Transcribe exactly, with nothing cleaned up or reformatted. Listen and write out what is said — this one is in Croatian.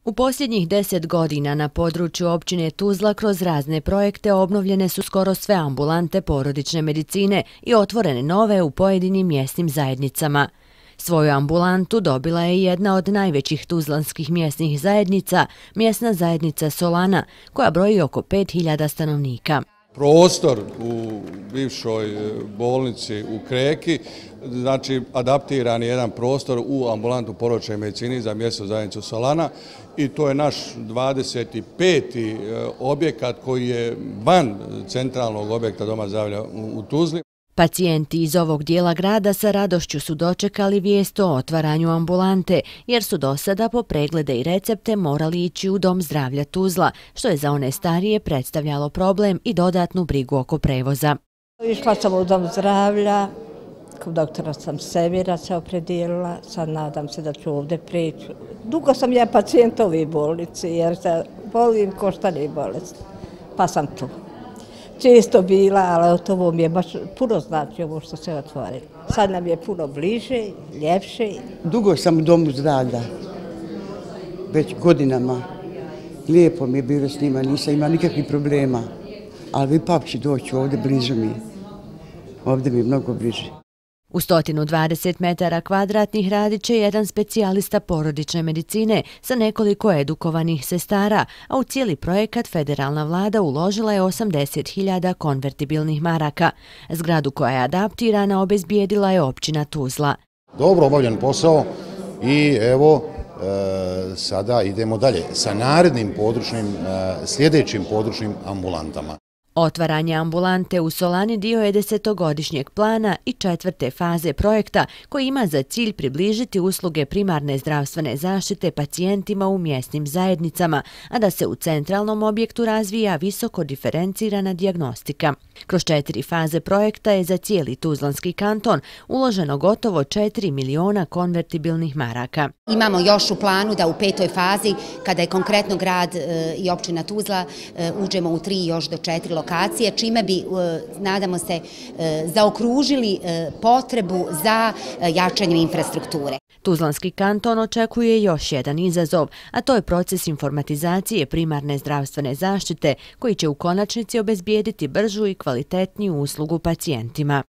U posljednjih deset godina na području općine Tuzla kroz razne projekte obnovljene su skoro sve ambulante porodične medicine i otvorene nove u pojedinim mjesnim zajednicama. Svoju ambulantu dobila je jedna od najvećih tuzlanskih mjesnih zajednica, mjesna zajednica Solana, koja broji oko pet hiljada stanovnika. Prostor u bivšoj bolnici u Kreki, znači adaptiran je jedan prostor u ambulantu porodične medicine za mjesnu zajednicu Solana i to je naš dvadeset peti objekat koji je van centralnog objekta Doma zdravlja u Tuzli. Pacijenti iz ovog dijela grada sa radošću su dočekali vijest o otvaranju ambulante, jer su do sada po preglede i recepte morali ići u Dom zdravlja Tuzla, što je za one starije predstavljalo problem i dodatnu brigu oko prevoza. Išla sam u Dom zdravlja, kod doktora sam Semira se opredijelila, sad nadam se da ću ovdje prići. Dugo sam ja pacijent ovih bolnici jer se volim koštane bolesti, pa sam tu. Često bila, ali ovo mi je baš puno znači ovo što se otvorilo. Sad nam je puno bliže, ljepše. Dugo sam u Domu zdravlja, već godinama. Lijepo mi je bilo s njima, nisam imala nikakvih problema. Ali ipak ću doći ovdje, bliže mi je. Ovdje mi je mnogo bliže. U sto dvadeset metara kvadratnih radit će jedan specijalista porodične medicine sa nekoliko edukovanih sestara, a u cijeli projekat federalna vlada uložila je osamdeset hiljada konvertibilnih maraka. Zgradu koja je adaptirana obezbijedila je općina Tuzla. Dobro obavljen posao i evo e, sada idemo dalje sa narednim područnim, e, sljedećim područnim ambulantama. Otvaranje ambulante u Solani dio je desetogodišnjeg plana i četvrte faze projekta koji ima za cilj približiti usluge primarne zdravstvene zaštite pacijentima u mjesnim zajednicama, a da se u centralnom objektu razvija visoko diferencirana dijagnostika. Kroz četiri faze projekta je za cijeli Tuzlanski kanton uloženo gotovo četiri miliona konvertibilnih maraka. Imamo još u planu da u petoj fazi, kada je konkretno grad e, i općina Tuzla, e, uđemo u tri još do četiri lokacije, čime bi, e, nadamo se, e, zaokružili e, potrebu za e, jačanjem infrastrukture. Tuzlanski kanton očekuje još jedan izazov, a to je proces informatizacije primarne zdravstvene zaštite koji će u konačnici obezbijediti bržu i kvalitetniju uslugu pacijentima.